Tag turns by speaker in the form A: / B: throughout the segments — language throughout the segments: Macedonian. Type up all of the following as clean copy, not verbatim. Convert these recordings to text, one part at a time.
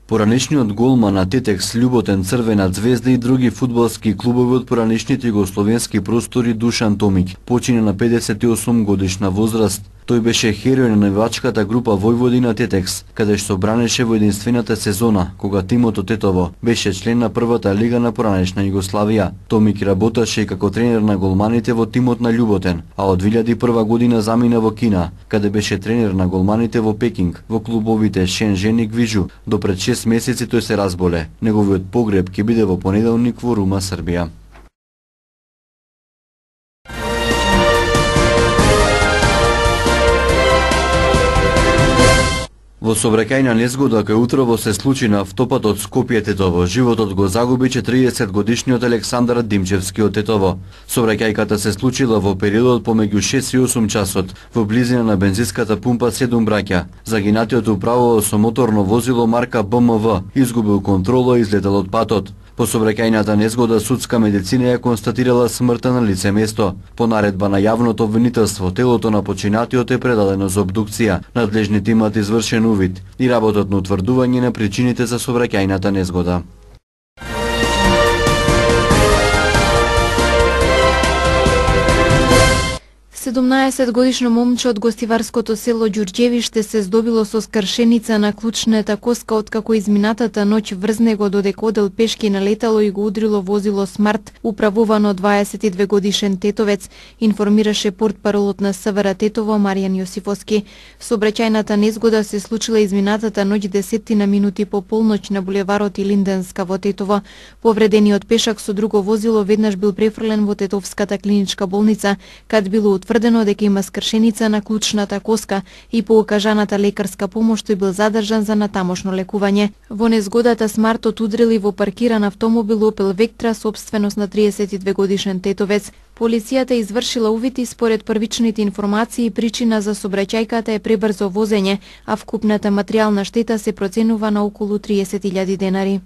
A: Поранешниот голман на Тетекс Љуботен, Црвена Звезда и други фудбалски клубови од поранешните југословенски простори Душан Томиќ почина на 58 годишна возраст. Тој беше херој на навивачката група Војводина Тетекс, каде што бранеше во единствената сезона, кога тимот од Тетово беше член на првата лига на поранешна Југославија. Томиќ работеше и како тренер на голманите во тимот на Љуботен, а од 2001 година замина во Кина, каде беше тренер на голманите во Пекинг, во клубовите Шенжен и Гвижу. До пред 6 месеци тој се разболе. Неговиот погреб ќе биде во понеделник во Рума, Србија. Во сообраќајна незгода кај утрово се случи на автопатот Скопје-Тетово. Животот го загуби 40-годишниот Александар Димчевски од Тетово. Сообраќајката се случила во периодот помеѓу 6 и 8 часот во близина на бензинската пумпа 7 браќа. Загинатиот управувал со моторно возило марка БМВ, изгубил контрола и излетел од патот. По сообраќајната незгода судска медицина ја констатирала смртта на лице место. По наредба на јавното обвинителство, телото на починатиот е предадено за обдукција. Надлежните имаат извршен увид и работат на утврдување на причините за сообраќајната незгода.
B: Годишно момче од гостиварското село Ѓурѓевиште се здобило со скршеница на клучната коска откако изминатата ноќ врз него додека одел пешки на летало и го удрило возило Смарт, управувано 22 годишен тетовец, информираше портпаролот на СВР Тетово Маријан Јосифовски. Сообраќајната незгода се случила изминатата ноќ 10 минути по полноќ на булеварот Илинденска во Тетово. Повредениот пешак со друго возило веднаш бил префрлен во Тетовската клиничка болница, кад било утврдено дека има скршеница на клучната коска и по окажаната лекарска помош тој бил задржан за натамошно лекување. Во незгодата Смартот удрили во паркиран автомобил Opel Vectra, собственост на 32 годишен тетовец. Полицијата извршила увид и според првичните информации причина за сообраќајката е пребрзо возење, а вкупната материјална штета се проценува на околу 30.000 денари.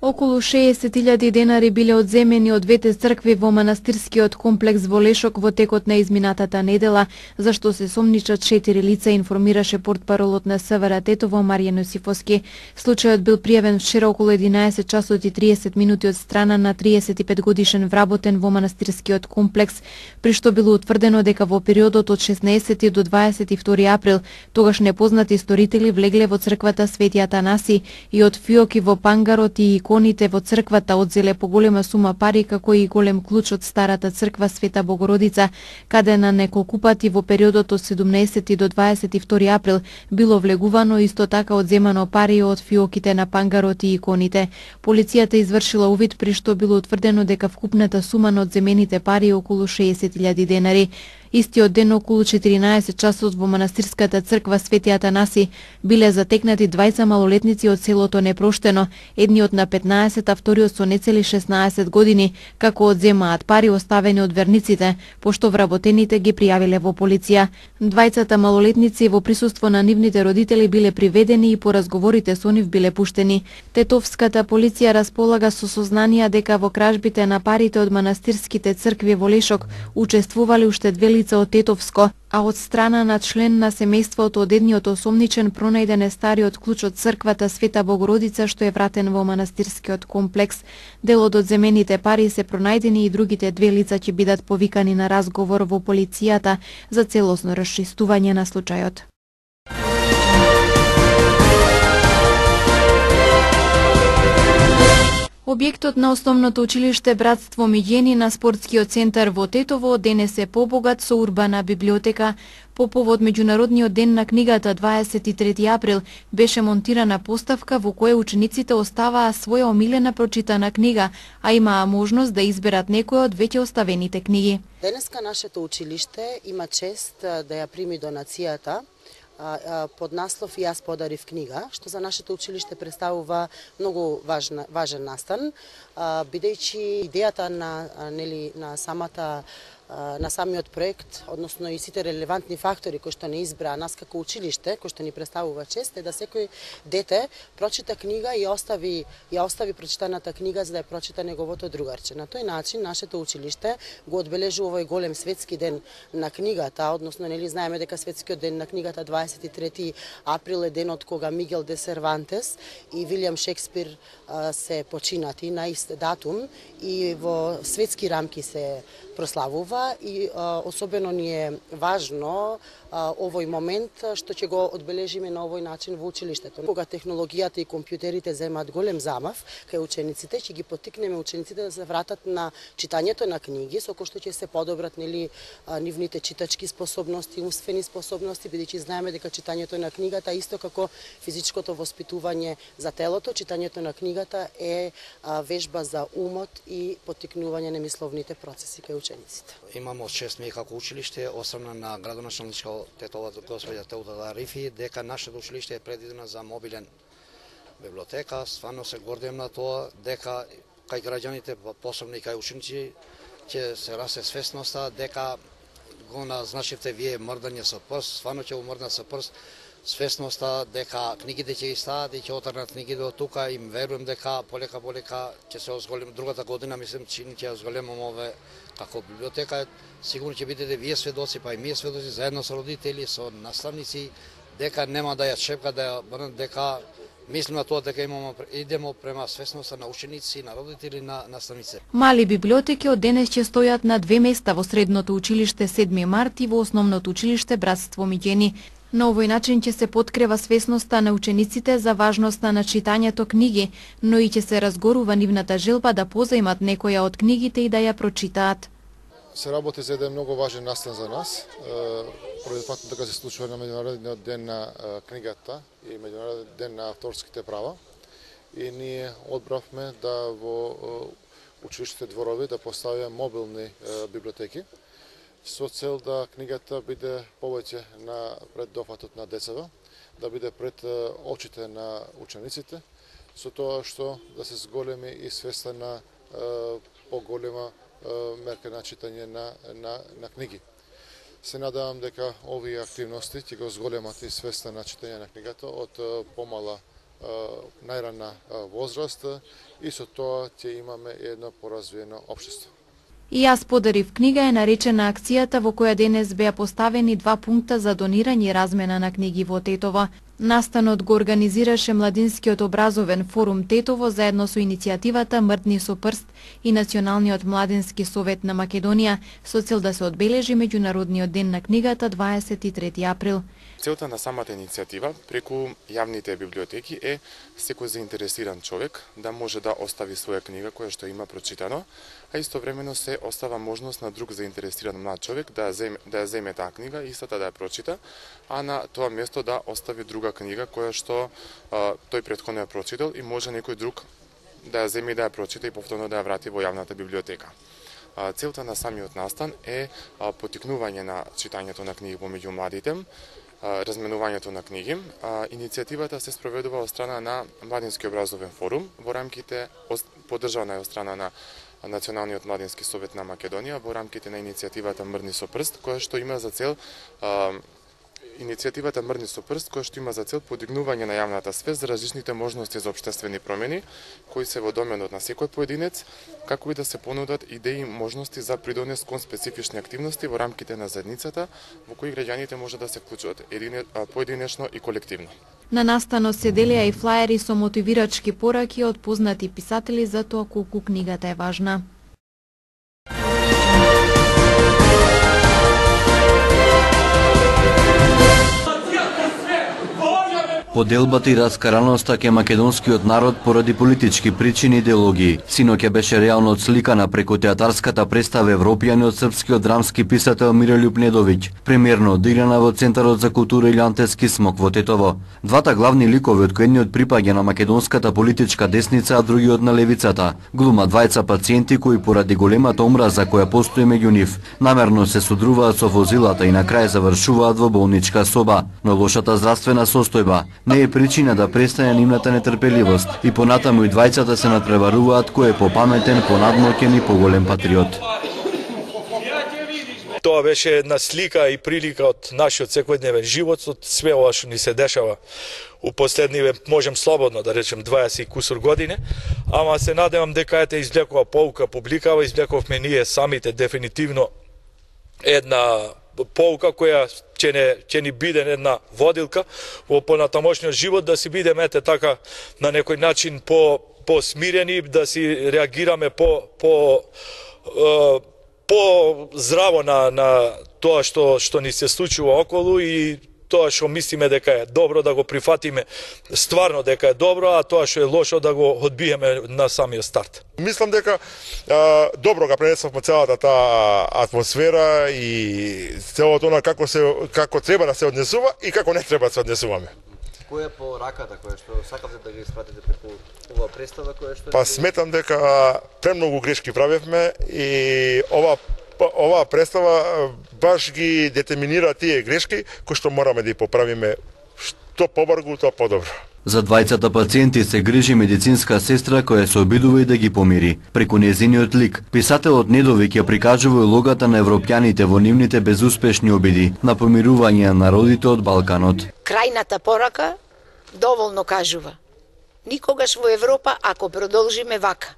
B: Околу 60.000 денари биле одземени од двете цркви во манастирскиот комплекс во Лешок во текот на изминатата недела, за што се сомничат 4 лица, информираше портпаролот на СВР Тетово Маријан Јосифовски. Случајот бил пријавен вчера околу 11 часот и 30 минути од страна на 35 годишен вработен во манастирскиот комплекс, при што било утврдено дека во периодот од 16 до 22 април тогаш непознати сторители влегле во црквата Свети Атанаси и од фиоки во пангарот и иконите во црквата одзеле поголема сума пари, како и голем клуч од старата црква Света Богородица, каде на неколку пати во периодот од 17 до 22 април било влегувано, исто така одземано пари од фиоките на пангарот и иконите. Полицијата извршила увид, при што било утврдено дека вкупната сума на одземените пари е околу 60.000 денари. Истиот ден околу 14 часот во манастирската црква Свети Атанаси биле затекнати двајца малолетници од селото Непроштено, едниот на 15, а вториот со нецели 16 години, како одземаат пари оставени од верниците, пошто вработените ги пријавиле во полиција. Двајцата малолетници во присуство на нивните родители биле приведени и по разговорите со нив биле пуштени. Тетовската полиција располага со сознанија дека во кражбите на парите од манастирските цркви во Лешок учествувале уште две лица од Тетовско, а од страна на член на семејството од едниот осомничен пронајден е стариот клуч од црквата Света Богородица што е вратен во манастирскиот комплекс. Дел од одземените пари се пронајдени и другите две лица ќе бидат повикани на разговор во полицијата за целосно расчистување на случајот. Објектот на основното училиште Братство Миѓени на спортскиот центар во Тетово денес е побогат со урбана библиотека. По повод Меѓународниот ден на книгата 23 април беше монтирана поставка во која учениците оставаа своја омилена прочитана книга, а имаа можност да изберат некоја од веќе оставените книги.
C: Денеска нашето училиште има чест да ја прими донацијата под наслов "И јас подарив книга", што за нашето училиште представува многу важен настан, бидејќи идејата на самата на самиот проект, односно и сите релевантни фактори кои што не избраа нас како училиште, кои што ни представува чест, е да секој дете прочита книга и ја остави прочитаната книга за да ја прочита неговото другарче. На тој начин нашето училиште го одбележува овој голем светски ден на книгата, односно нели знаеме дека светскиот ден на книгата 23 април е денот кога Мигел де Сервантес и Вилијам Шекспир се починати на ист датум и во светски рамки се прославува и особено ни е важно овој момент што ќе го одбележиме на овој начин во училиштето. Кога технологијата и компјутерите земат голем замав кај учениците, ќе ги поттикнеме учениците да се вратат на читањето на книги, со кој што ќе се подобрат нивните читачки способности, умствени способности, бидејќи знаеме дека читањето на книгата исто како физичкото воспитување за телото, читањето на книгата е вежба за умот и поттикнување на мисловните процеси кај учениците.
D: Имамо чест ми како училиште, осамна на градоначалничка тетова госпоѓа Теодора Рифи, дека нашето училиште е предвидено за мобилен библиотека. Стварно се гордеем на тоа дека кај граѓаните, посебно и кај ученици, ќе се расте свесноста дека го назначивте вие мрдање со прст, стварно ќе го мрднат со прст, свесноста дека книгите ќе стаат и ќе отргнат книгите од тука и верувам дека полека ќе се озголим другата година, мислам че ќе озголемаме како библиотека. Сигурно ќе бидете вие сведоци, па и ние сведоци заедно со родители, со наставници, дека нема да ја шепка, да ја брнат, дека мислим на тоа дека идемо према свесноста на ученици, на родители, на наставници.
B: Мали библиотеки од денес ќе стојат на 2 места во средното училиште 7 март и во основното училиште Братство Миѓени. На овој начин ќе се подкрива свесноста на учениците за важноста на читањето книги, но и ќе се разгорува нивната желба да позаимат некоја од книгите и да ја прочитаат.
E: Се работи за еден многу важен настан за нас. Поради фактот дека се случува на меѓународниот ден на книгата и меѓународниот ден на авторските права. И ние одбравме да во училиштите дворови да поставиме мобилни библиотеки со цел да книгата биде повеќе пред дофатот на децата, да биде пред очите на учениците, со тоа што да се зголеми и свеста на поголема мерка на читање на книги. Се надевам дека овие активности ќе го зголемат и свеста на читање на книгата од помала најрана возраст и со тоа ќе имаме едно поразвиено општество.
B: И јас подарив книга е наречена акцијата во која денес беа поставени 2 пункта за донирање и размена на книги во Тетово. Настанот го организираше Младинскиот образовен форум Тетово заедно со иницијативата Мрдни со прст и Националниот младински совет на Македонија со цел да се одбележи меѓународниот ден на книгата 23 април.
F: Целта на самата иницијатива преку јавните библиотеки е секој заинтересиран човек да може да остави своја книга која што има прочитано, а истовремено се остава можност на друг заинтересиран млад човек да ја земе таа книга, истата да ја прочита, а на тоа место да остави друга книга која што тој претходно ја прочитал и може некој друг да ја земе и да ја прочита и повторно да ја врати во јавната библиотека. Целта на самиот настан е поттикнување на читањето на книги помеѓу младите, разменувањето на книги. Иницијативата се спроведува од страна на Младински образовен форум во рамките поддржана е од страна на Националниот младински совет на Македонија во рамките на иницијативата Мрдни со прст, која што има за цел подигнување на јавната свест за различните можности за општествени промени кои се во доменот на секој поединец, како и да се понудат идеи и можности за придонес кон специфични активности во рамките на заедницата во кои граѓаните може да се вклучат поединечно и колективно.
B: На настанот се делеа и флаери со мотивирачки пораки од познати писатели за тоа колку книгата е важна.
A: Поделбата и раскараноста ке македонскиот народ поради политички причини и идеологии. Синоќа беше реално отсликана преку театарската представа Европјани од српскиот драмски писател Мирољуб Недовиќ, премиерно одиграна во Центарот за култура Илјантевски смок во Тетово. Двата главни ликови од кои едниот припаѓа на македонската политичка десница, а другиот на левицата, глумат двајца пациенти кои поради големата омраза која постои меѓу нив, намерно се судруваат со возилата и на крај завршуваат во болничка соба, но лошата здравствена состојба не е причина да престане нивната нетрпеливост и понатаму и двајцата се надпреваруваат кој е попаметен, понадмоќен и поголем патриот.
G: Тоа беше една слика и прилика од нашиот секојдневен живот, од све ова што ни се дешава у последниве, можем слободно да речем 20 и кусур години, ама се надевам дека ете извлекува поука публикава, извлековме ние самите дефинитивно една поука која ќе ни биде една водилка во понатамошниот живот, да си бидеме ете така на некој начин по-смирени, да си реагираме по здраво на тоа што ни се случува околу и тоа што мислиме дека е добро да го прифатиме стварно дека е добро, а тоа што е лошо да го одбиеме на самиот старт.
H: Мислам дека добро га пренесовме целата таа атмосфера и целото она како треба да се однесува и како не треба да се однесуваме.
A: Која е пораката која што сакавте да ги испратите преку оваа представа која што
H: Па сметам дека премногу грешки правевме и оваа представа баш ги детерминира тие грешки кои што мораме да ги поправиме што побрзо, тоа подобро.
A: За двајцата пациенти се грижи медицинска сестра која се обидува и да ги помири. Преку нејзиниот лик, писателот Недовик ја прикажува улогата на европјаните во нивните безуспешни обиди на помирување на народите од Балканот.
I: Крајната порака доволно кажува. Никогаш во Европа, ако продолжиме вака,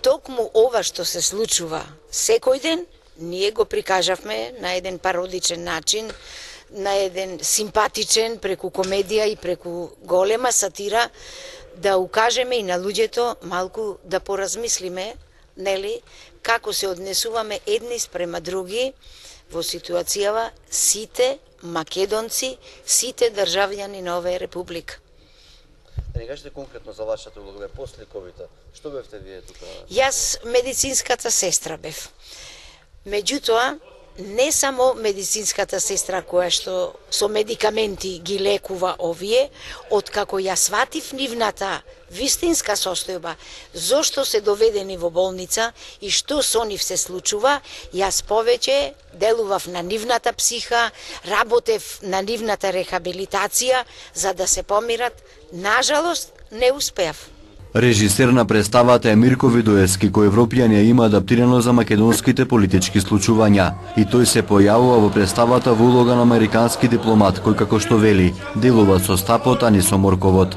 I: токму ова што се случува секој ден, ние го прикажавме на еден пародичен начин, на еден симпатичен, преку комедија и преку голема сатира, да укажеме и на луѓето малку да поразмислиме, нели, како се однесуваме едни спрема други во ситуацијава сите македонци, сите државјани на оваа република.
A: Да не кажете конкретно за вашата улога после ковида. Што бевте вие тука?
I: Јас медицинската сестра бев. Меѓутоа, не само медицинската сестра која што со медикаменти ги лекува овие, откако ја сватив нивната вистинска состојба, зошто се доведени во болница и што со нив се случува, јас повеќе делував на нивната психа, работев на нивната рехабилитација за да се помират. Нажалост, не успеав.
A: Режисер на представата е Мирко Видоевски, кој европјани има адаптирано за македонските политички случувања. И тој се појавува во представата во улога на американски дипломат, кој како што вели, делува со стапот, а не со морковот.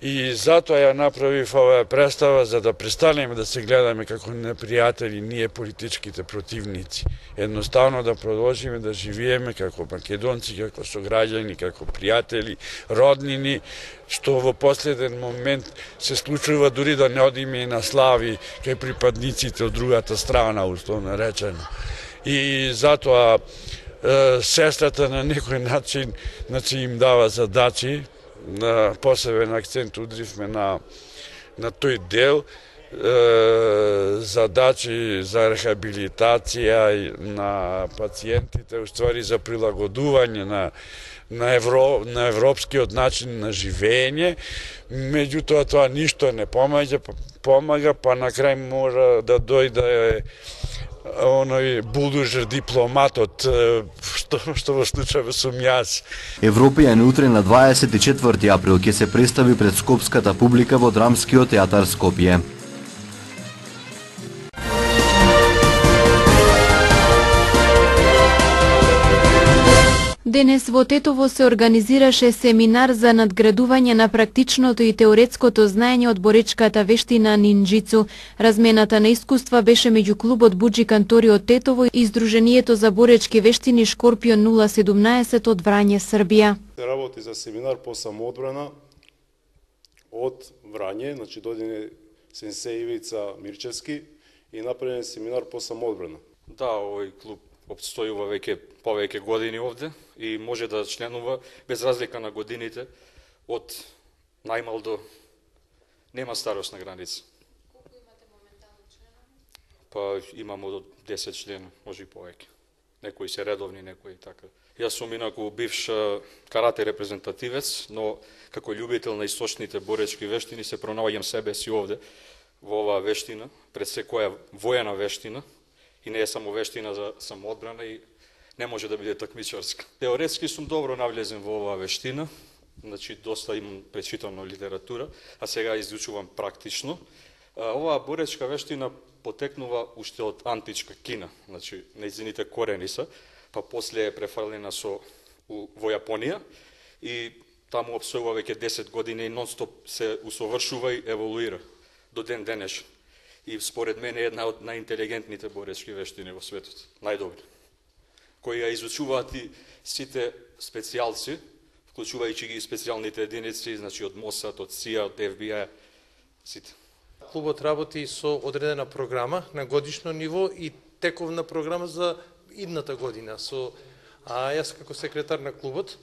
J: И затоа ја направив оваа представа за да престанеме да се гледаме како непријатели ние политичките противници. Едноставно да продолжиме да живееме како македонци, како сограѓани, како пријатели, роднини, што во последен момент се случува дури да не одиме и на слави кај припадниците од другата страна, условно речено. И затоа сестрата на некој начин им дава задачи, на посебен акцент удривме на тој дел, задачи за рехабилитација на пациентите, уствари за прилагодување на европскиот начин на живење, меѓутоа тоа ништо не помага, па на крај мора да дојде оној булдужер дипломатот, што во случајот сум јас.
A: Европијан утре на 24 април ќе се представи пред скопската публика во Драмскиот театар Скопје.
B: Денес во Тетово се организираше семинар за надградување на практичното и теоретското знаење од боречката вештина нинџицу. Размената на искуства беше меѓу клубот Буџи Кантори од Тетово и Сдруженијето за боречки вештини Шкорпион 017 од Врање, Србија.
K: Се работи за семинар по самоодбрана од Врање, значи дојде сенсеј Ивица Мирчевски и направен семинар по самоодбрана.
L: Да, овој клуб обстојува веќе повеќе години овде и може да членува без разлика на годините од најмал до нема старосна граница.
B: Колку имате моментално членови?
L: Па имамо до 10 члена, може и повеќе. Некои се редовни, некои така. Јас сум инаку бивш карате репрезентативец, но како љубител на источните боречки вештини се пронаоѓам себе си овде во оваа вештина, пред секоја воена вештина. И не е само вештина за самоодбрана и не може да биде такмичарска. Теоретски сум добро навлезен во оваа вештина, значи доста имам пречитано литература, а сега изучувам практично. Оваа боречка вештина потекнува уште од античка Кина, значи нејзините корени се, па после е префрлена во Јапонија и таму опсојува веќе 10 години и нон-стоп се усовршува и еволуира до ден денешен. И според мене е една од најинтелигентните боречки вештини во светот, најдобри, кои ја изучуваат и сите специјалци, вклучувајќи ги специјалните единици, значи од МОСАД, од СИА, од ФБИ, сите.
M: Клубот работи со одредена програма на годишно ниво и тековна програма за идната година. Јас како секретар на клубот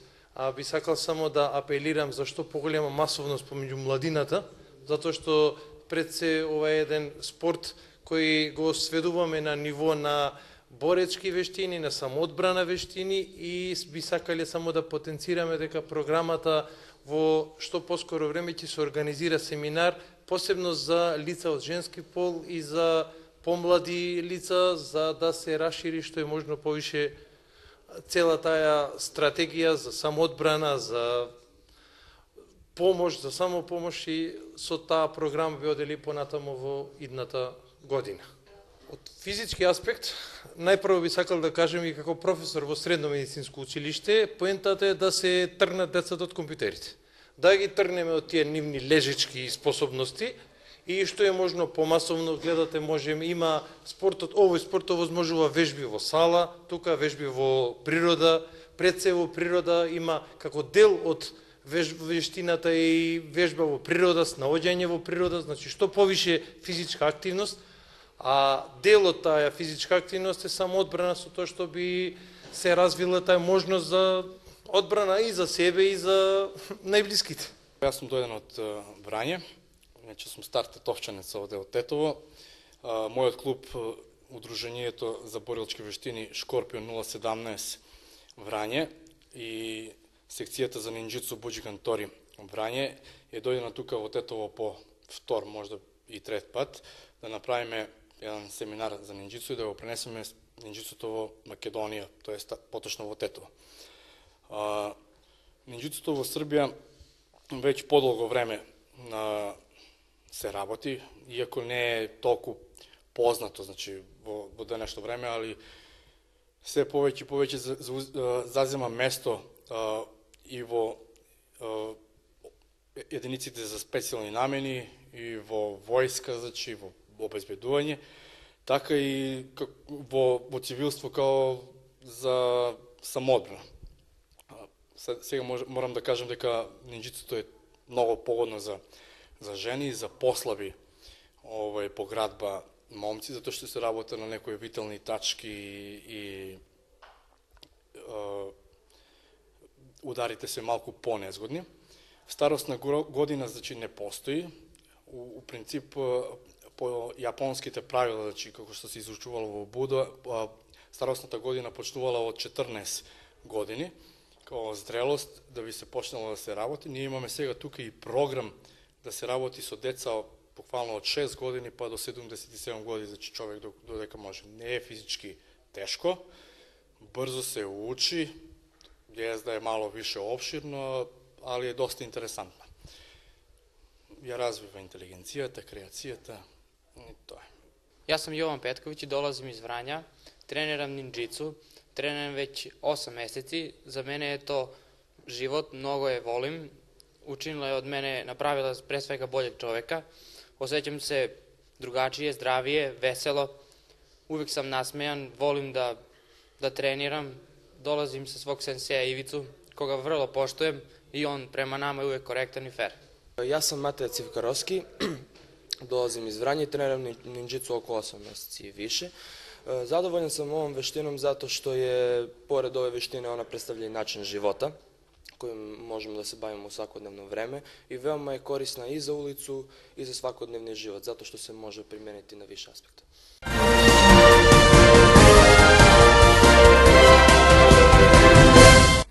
M: би сакал само да апелирам за што поголема масовност помеѓу младината, затоа што пред се ова е еден спорт кој го сведуваме на ниво на боречки вештини, на самоодбрана вештини и би сакале само да потенцираме дека програмата во што поскоро време ќе се организира семинар посебно за лица од женски пол и за помлади лица, за да се расшири што е можно повише цела таа стратегија за самоодбрана, за помош, за самопомош и со таа програма би одели понатаму во идната година. Од физички аспект, најпрво би сакал да кажем и како професор во средно медицинско училиште, поентата е да се тргнат децата од компјутерите. Да ги тргнеме од тие нивни лежички способности и што е можно помасовно, гледате, можем, има спортот, овој спорт овозможува вежби во сала, тука вежби во природа, пред се во природа има како дел од вештината и вежба во природа, снаоѓање во природа, значи што повише физичка активност, а дел од таа физичка активност е само одбрана со тоа што би се развила таа можност за одбрана и за себе и за најблиските.
N: Јас сум дојден од Врање, значи сум стар тетовчанец овде од Тетово. Мојот клуб, Удруженијето за борилчки вештини Шкорпион 017 Врање и секцијата за нинџицу Буџиган Тори Врање е дојдена тука во Тетово по втор, можда и трет пат, да направиме еден семинар за нинџицу и да го пренесеме нинџицуто во Македонија, тоест поточно во Тетово. Нинџицуто во Србија веќе подолго време се работи, иако не е толку познато, значи во денешно време, али се повеќе и повеќе зазема место и во единиците за специјални намени, и во војска, значи во обезбедување, така и во цивилство као за самоодбрана. Сега морам да кажам дека нинџицуто е многу погодно за жени, за послаби поградба момци, затоа што се работа на некои витални тачки и ударите се малку понезгодни. Старосна година, значи, не постои. У принцип, по јапонските правила, значи, како што се изучувало во Буда, старосната година почнувала од 14 години, као зрелост, да би се почнало да се работи. Ние имаме сега тука и програм да се работи со деца буквално од 6 години па до 77 години, значи човек додека може. Не е физички тешко, брзо се учи, да е мало више обширно, али е доста интересантно. Ја развива интелигенцијата, креацијата и тоа.
O: Јас сум Јован Петковиќ и долазим из Врања, тренирам нинџицу, тренирам веќе 8 месеци. За мене е то живот, многу е волим. Учинила е од мене, направила пред свега болјeg човека. Осеќам се другачие, здравие, весело. Увек сам насмејан, волим да тренирам. Долазим со свог сенсеја Ивицу, кога врло поштуем и он према нама е увек коректен и фер.
P: Јас сам Матеја Цивкаровски, долазим из Врање и тренирам нинџицу околу 8 месеци и више. Задоволен сам овом вештином затоа што е, поред ове вештини, она представља и начин живота, кој можеме да се бавиме во секојдневно време и веома е корисна и за улицу и за секојдневниот живот, затоа што се може применити на више аспекти.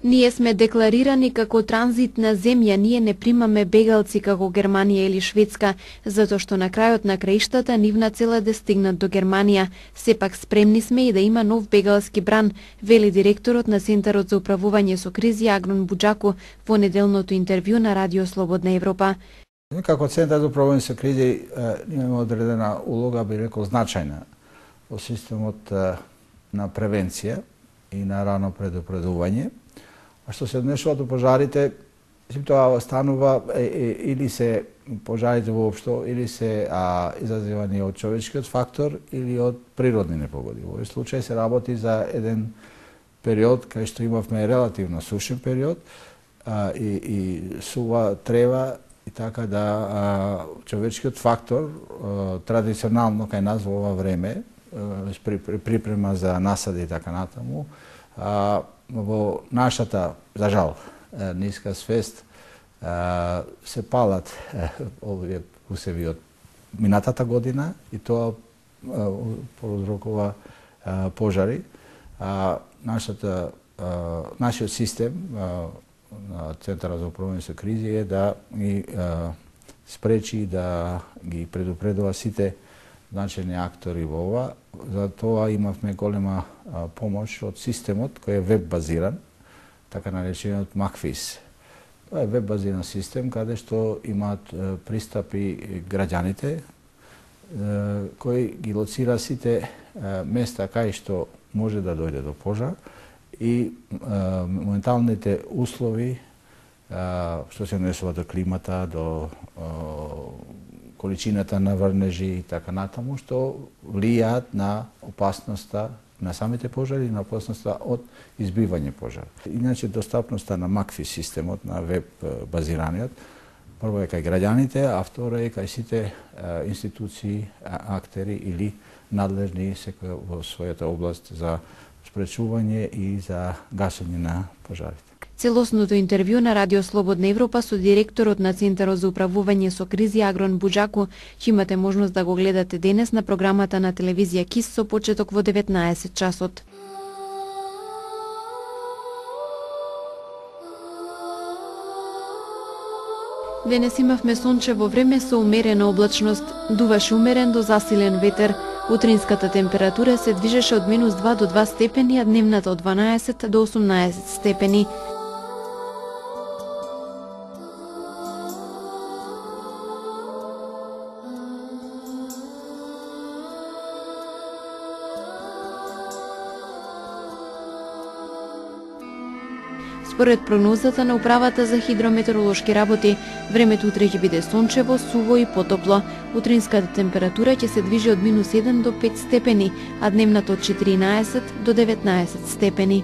B: Ние сме декларирани како транзитна земја, ние не примаме бегалци како Германија или Шведска, затоа што на крајот на краиштата нивна цел е да стигнат до Германија. Сепак спремни сме и да има нов бегалски бран, вели директорот на Центарот за управување со кризи Агнон Буџаку во неделното интервју на Радио Слободна Европа.
Q: Како Центар за управување со кризи имаме одредена улога, би рекол значајна во системот на превенција и на рано предупредување. А што се однесува до пожарите, тоа станува или се пожарите воопшто, или се изазивани од човечкиот фактор или од природни непогоди. Во овој случај се работи за еден период кај што имавме релативно сушен период и сува трева и така да човечкиот фактор традиционално кај нас во ова време припрема за насади и така натаму во нашата, за жал, ниска свест се палат овие усеви од минатата година и тоа проузрокува пожари. Нашиот систем на Центарот за управување со кризи е да ги спречи да ги предупредува сите значајни актори во ова. За тоа имавме голема помош од системот кој е веб базиран, така наречениот Макфис. Тоа е веб базиран систем каде што имаат пристапи граѓаните кој ги лоцира сите места кај што може да дојде до пожар и моменталните услови што се однесува до климата, до количината на врнежи и така натаму, што влијаат на опасноста на самите пожари и на опасноста од избивање пожар. Иначе достапноста на Макфис системот, на веб базираниот, прво е кај граѓаните, а второ е кај сите институции, актери или надлежни секој во својата област за спречување и за гасење на пожарите.
B: Целосното интервју на Радио Слободна Европа со директорот на Центарот за управување со кризи Агрон Буџаку, ќе имате можност да го гледате денес на програмата на телевизија КИС со почеток во 19 часот. Денес имавме сончево време со умерена облачност, дуваше умерен до засилен ветер. Утринската температура се движеше од -2 до 2 степени, а дневната од 12 до 18 степени. Според прогнозата на Управата за хидрометеоролошки работи, времето утре ќе биде сончево, суво и потопло. Утринската температура ќе се движи од -1 до 5 степени, а дневната од 14 до 19 степени.